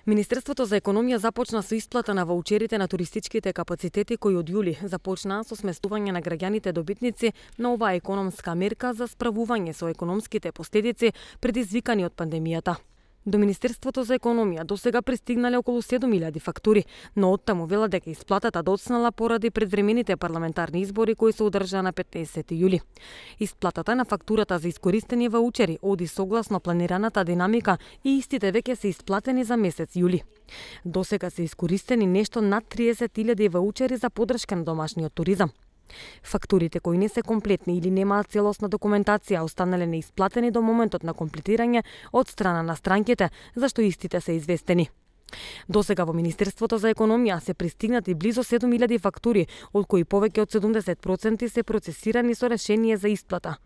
Министерството за економија започна со исплата на ваучерите на туристичките капацитети кои од јули започнаа со сместување на граѓаните добитници на оваа економска мерка за справување со економските последици предизвикани од пандемијата. До Министерството за економија досега пристигнале околу 7000 фактури, но оттаму велат дека исплатата доцнала поради предвремените парламентарни избори кои се одржаа на 15 јули. Исплатата на фактурата за искористени ваучери оди согласно планираната динамика и истите веќе се исплатени за месец јули. Досега се искористени нешто над 30.000 ваучери за поддршка на домашниот туризам. Фактурите кои не се комплетни или немаат целосна документација останале неисплатени до моментот на комплетирање од страна на странките, зашто истите се известени. Досега во Министерството за економија се пристигнати близу 7000 фактури, од кои повеќе од 70% се процесирани со решение за исплата.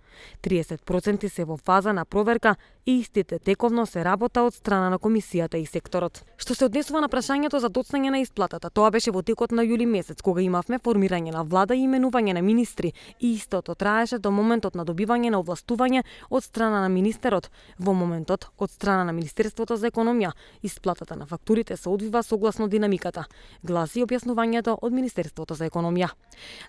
30% се во фаза на проверка и истите тековно се работа од страна на комисијата и секторот. Што се однесува на прашањето за доцнење на исплатата, тоа беше во текот на јули месец, кога имавме формирање на влада и именување на министри, и истото траеше до моментот на добивање на овластување од страна на министерот. Во моментот, од страна на Министерството за економија, исплатата на фактурите се одвива согласно динамиката, гласи објаснувањето од Министерството за економија.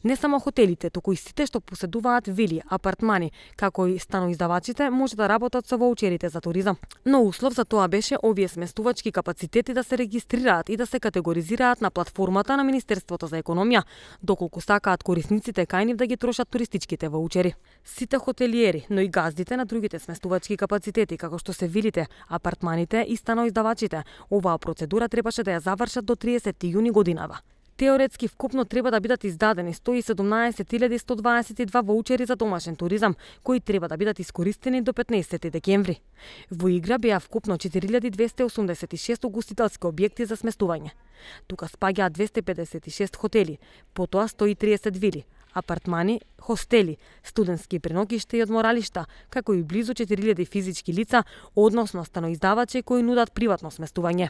Не само хотелите, туку и сите што поседуваат вили, апартмани, како и станоиздавачите може да работат со ваучерите за туризам. Но услов за тоа беше овие сместувачки капацитети да се регистрираат и да се категоризираат на платформата на Министерството за економија, доколку сакаат корисниците кај нив да ги трошат туристичките ваучери. Сите хотелиери, но и газдите на другите сместувачки капацитети, како што се вилите, апартманите и станоиздавачите, оваа процедура требаше да ја завршат до 30 јуни годинава. Теоретски вкупно треба да бидат издадени 117.122 ваучери за домашен туризам, кои треба да бидат искористени до 15 декември. Во игра беа вкупно 4286 угостителски објекти за сместување. Тука спаѓаат 256 хотели, потоа 130 вили, апартмани, хостели, студентски преноќишта и одморалишта, како и близу 4000 физички лица, односно станоиздавачи кои нудат приватно сместување.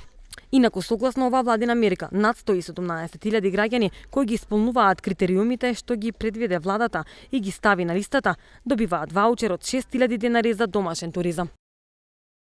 Инаку, согласно оваа владина мерка, над 117.000 граѓани кои ги исполнуваат критериумите што ги предвиде владата и ги стави на листата, добиваат ваучер од 6.000 денари за домашен туризам.